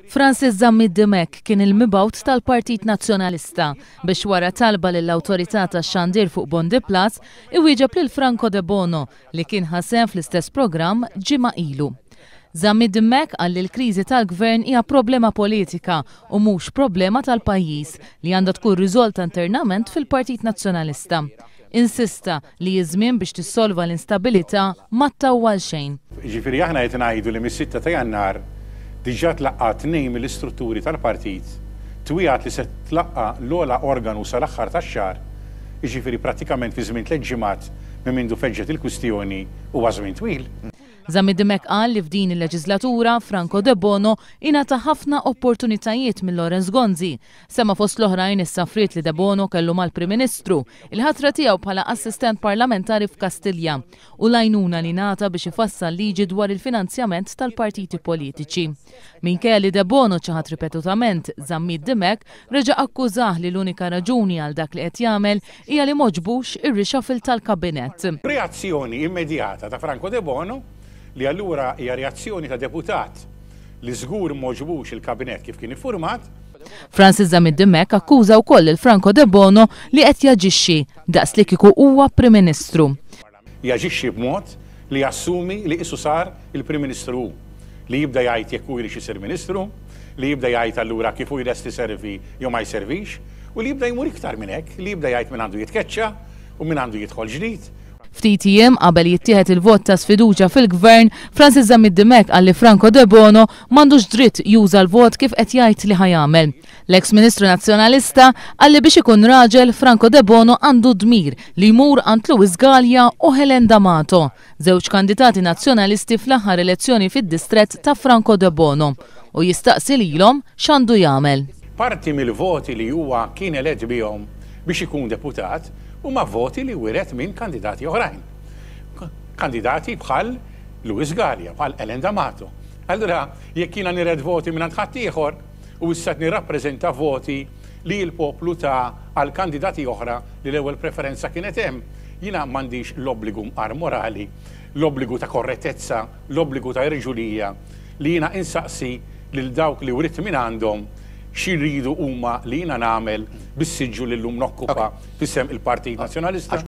Francis Zammit Dimech kien il-mibgħut tal-Partit Nazzjonalista biex wara talba lill-Awtorità tax-Xandir fuq Bondi Plus iwieġeb lil Franco Debono li kien ħa sehem fl-istess programm ġimgħa ilu. Zammit Dimech qal li l-kriżi tal-Gvern hija problema politika u mhux problema tal-pajjiż li għandha tkun riżolta internament fil-Partit Nazzjonalista. Insista li ż-żmien biex tissolva l-instabilità ma ttawwal xejn. Jiġifieri aħna qed ngħidu li mis-sitta ta' Jannar diġà tlaqqa' tnejn mill-istrutturi tal-partit, twiegħed li se tlaqqa' l-ogħla organu sal-aħħar tax-xahar, jiġifieri prattikament fi żmien tlett ġimgħat minn mindu feġġet il-kwistjoni huwa żmien twil. Zammit Dimech qal li f'din il-leġislatura Franco Debono ingħata ħafna opportunitajiet minn Lawrence Gonzi. Semma fost l-oħrajn is-safriet li Debono kellu mal-Prim Ministru, il-ħatra tiegħu bħala assistent parlamentari f'Kastilja u l-għajnuna li ngħata biex ifassal liġi dwar il-finanzjament tal-partiti politiċi. Minkejja li Debono ċaħad ripetutament, Zammit Dimech reġa' akkużah li l-unika raġuni għal dak li qed jagħmel hija li m'għoġbux ir-reshuffle tal-Kabinett. Reazzjoni immedjata ta' Franco Debono, li allura hija reazzjoni ta' deputat li żgur m'għoġbux il-Kabinett kif kien iffurmat. Francis Zammit Dimech akkuża wkoll lil Franco Debono li qed jaġixxi daqs li kieku huwa Prim Ministru. Jaġixxi b'mod li jassumi li qisu sar il-Prim Ministru hu, li jibda jgħid jekk hu jridx isir Ministru, li jibda jgħid allura kif hu lest iservi jew ma jservix, u li jibda jmur iktar minn hekk, li jibda jgħid min għandu jitkeċċa u min għandu jidħol ġdid. Ftit jiem qabel jittieħed il-vot ta' sfiduċja fil-Gvern, Francis Zammit Dimech qal li Franco Debono m'għandux dritt juża l-vot kif qed jgħid li ħa jagħmel. L-eks Ministru Nazzjonalista qal li biex ikun raġel, Franco Debono għandu d-dmir li jmur għand Louis Galea u Helen D'Amato, żewġ kandidati Nazzjonalisti fl-aħħar elezzjoni fid-distrett ta' Franco Debono, u jistaqsi lilhom x'għandu jagħmel. Parti mill-voti li huwa kien elett bihom biex ikun deputat huma voti li wiret minn kandidati oħrajn. Kandidati bħal Louis Galea, bħal Helen D'Amato. Allura jekk jiena niret voti mingħand ħaddieħor, u issa qed nirrappreżenta voti li l-poplu ta għal kandidati oħra li l-ewwel preferenza kienet hemm, jiena m'għandix l-obbligu mqar morali, l-obbligu ta' korrettezza, l-obbligu ta' irġulija li jiena insaqsi lil dawk li writt mingħandhom xi jridu huma li jiena nagħmel bis-siġġu li llum nokkupa f'isem il-Partit Nazzjonalista.